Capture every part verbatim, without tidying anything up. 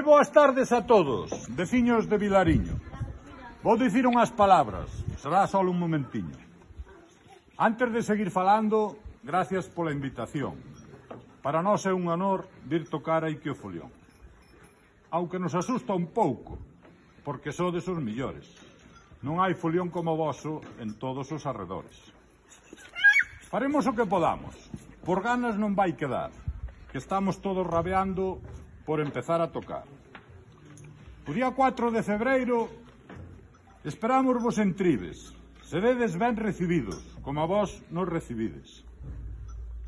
Moi boas tardes a todos, veciños de Vilariño. Vou dicir unhas palabras, será só un momentiño. Antes de seguir falando, gracias pola invitación. Para nós é un honor vir tocar aquí o folión. Aunque nos asusta un pouco, porque sodes os millores. Non hai folión como o voso en todos os arredores. Faremos o que podamos, por ganas non vai quedar, que estamos todos rabeando por empezar a tocar. O día cuatro de febreiro esperamos vos en Tribes, seredes ben recibidos, como a vos nos recibides.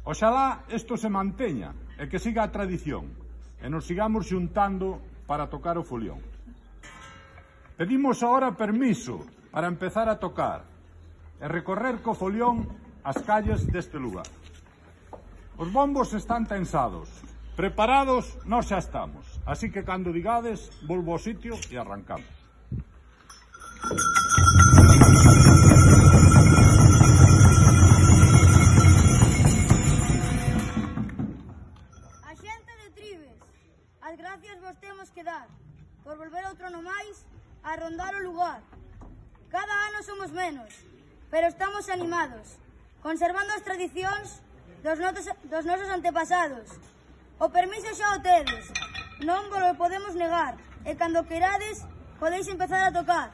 Oxalá isto se manteña e que siga a tradición e nos sigamos xuntando para tocar o folión. Pedimos agora permiso para empezar a tocar e recorrer co folión as calles deste lugar. Os bombos están tensados, preparados nós xa estamos, así que cando digades, volvo ao sitio e arrancamos. A xente de Tribes, as gracias vos temos que dar por volver outro ano máis a rondar o lugar. Cada ano somos menos, pero estamos animados, conservando as tradicións dos, notos, dos nosos antepasados. O permiso xa o tedes, non vos lo podemos negar, e cando queirades podéis empezar a tocar.